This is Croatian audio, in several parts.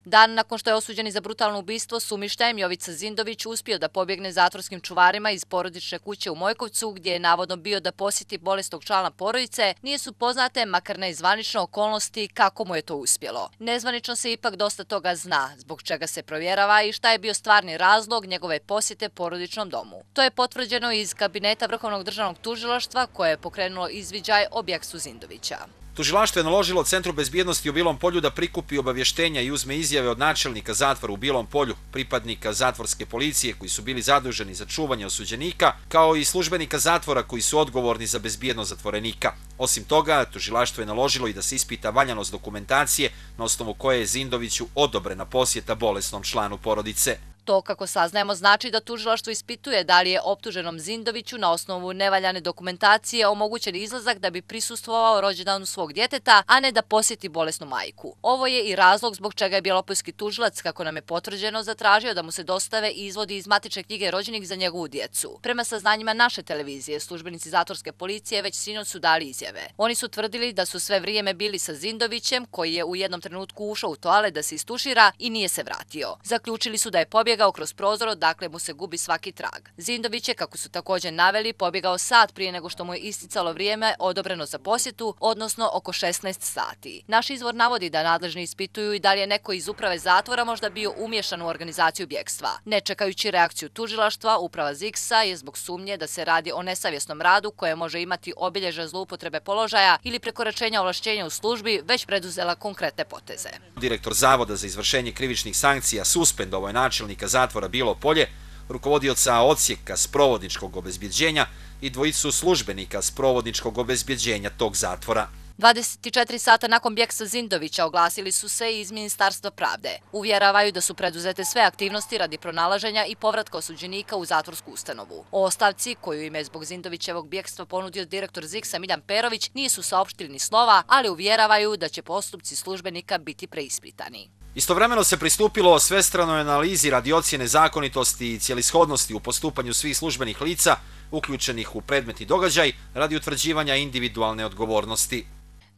Dan nakon što je osuđeni za brutalno ubistvo, sumišljajem Jovica Zindović uspio da pobjegne zatvorskim čuvarima iz porodične kuće u Mojkovcu, gdje je navodno bio da posjeti bolesnog člana porodice, nije su poznate, makar ne i zvanično, okolnosti kako mu je to uspjelo. Nezvanično se ipak dosta toga zna, zbog čega se provjerava i šta je bio stvarni razlog njegove posjete porodičnom domu. To je potvrđeno iz kabineta Vrhovnog državnog tužilaštva koje je pokrenulo izviđaj o bjekstvu Zindovića. Tužilaštvo je naložilo Centru bezbjednosti u Bilom Polju da prikupi obavještenja i uzme izjave od načelnika zatvora u Bilom Polju, pripadnika zatvorske policije koji su bili zaduženi za čuvanje osuđenika, kao i službenika zatvora koji su odgovorni za bezbjednost zatvorenika. Osim toga, tužilaštvo je naložilo i da se ispita valjanost dokumentacije na osnovu koje je Zindoviću odobrena posjeta bolesnom članu porodice. To, kako saznajemo, znači da tužilaštvo ispituje da li je optuženom Zindoviću na osnovu nevaljane dokumentacije omogućen izlazak da bi prisustvovao rođendanu svog djeteta, a ne da posjeti bolesnu majku. Ovo je i razlog zbog čega je bjelopoljski tužilac, kako nam je potvrđeno, zatražio da mu se dostave i izvodi iz matične knjige rođenih za njegovu djecu. Prema saznanjima naše televizije, službenici zatvorske policije već sinoć su dali izjave. Oni su tvrdili da su sve vrijeme bili sa Zindovićem, koji je u jednom trenutku ušao u toalet da se istušira i nije se vratio. Zaključili su da je pobjegao kroz prozor, odakle mu se gubi svaki trag. Zindović je, kako su također naveli, pobjegao sat prije nego što mu je isticalo vrijeme odobreno za posjetu, odnosno oko 16 sati. Naš izvor navodi da nadležni ispituju i da li je neko iz uprave zatvora možda bio umiješan u organizaciju bjekstva. Ne čekajući reakciju tužilaštva, uprava ZIKS-a je zbog sumnje da se radi o nesavjesnom radu koje može imati obilježja zloupotrebe položaja ili prekoračenja ovlašćenja u službi već preduzela konkretne poteze. Direktor Zavoda za izvršenje krivičnih sankcija suspendovao je načelnika zatvora Bilo Polje, rukovodioca odsjeka sprovodničkog obezbjeđenja i dvojicu službenika sprovodničkog obezbjeđenja tog zatvora. 24 sata nakon bjekstva Zindovića oglasili su se iz Ministarstva pravde. Uvjeravaju da su preduzete sve aktivnosti radi pronalaženja i povratka osuđenika u zatvorsku ustanovu. O ostavci, koju im je zbog Zindovićevog bjekstva ponudio direktor ZIKS-a Miljan Perović, nisu saopštili ni slova, ali uvjeravaju da će postupci službenika biti preispitani. Istovremeno se pristupilo svestranoj analizi radi ocjene zakonitosti i cjelishodnosti u postupanju svih službenih lica uključenih u predmetni događaj radi utvrđivanja individualne odgovornosti.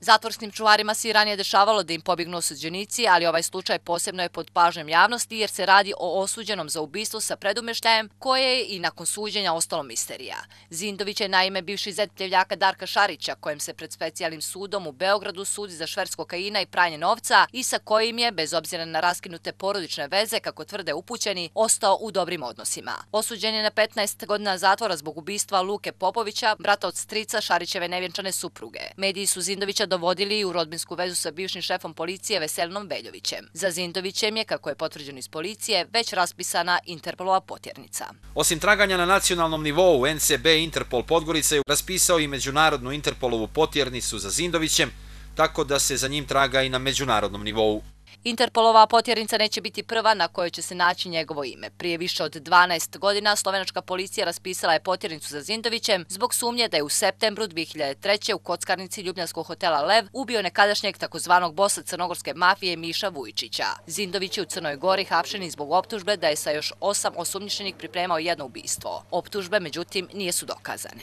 Zatvorskim čuvarima se i ranije dešavalo da im pobjegnu osuđenici, ali ovaj slučaj posebno je pod pažnjom javnosti jer se radi o osuđenom za ubistvo sa predumještajem koje je i nakon suđenja ostalo misterija. Zindović je naime bivši zet pljevljaka Darka Šarića, kojem se pred specijalnim sudom u Beogradu sudi za šverc kokaina i pranje novca i sa kojim je, bez obzira na raskinute porodične veze, kako tvrde upućeni, ostao u dobrim odnosima. Osuđen je na 15 godina zatvora zbog ubistva Luke Popovića, brata od strica Šarićeve nevjenčane supruge. Mediji su Zindovića dovodili u rodbinsku vezu sa bivšim šefom policije Veselinom Veljovićem. Za Zindovićem je, kako je potvrđeno iz policije, već raspisana Interpolova potjernica. Osim traganja na nacionalnom nivou, NCB Interpol Podgorica je raspisao i međunarodnu Interpolovu potjernicu za Zindovićem, tako da se za njim traga i na međunarodnom nivou. Interpolova potjernica neće biti prva na kojoj će se naći njegovo ime. Prije više od 12 godina slovenačka policija raspisala je potjernicu za Zindovićem zbog sumnje da je u septembru 2003. u kockarnici ljubljanskog hotela Lev ubio nekadašnjeg takozvanog bosa crnogorske mafije Miša Vujčića. Zindović je u Crnoj Gori hapšen zbog optužbe da je sa još 8 osumnjičenih pripremao jedno ubistvo. Optužbe, međutim, nisu dokazane.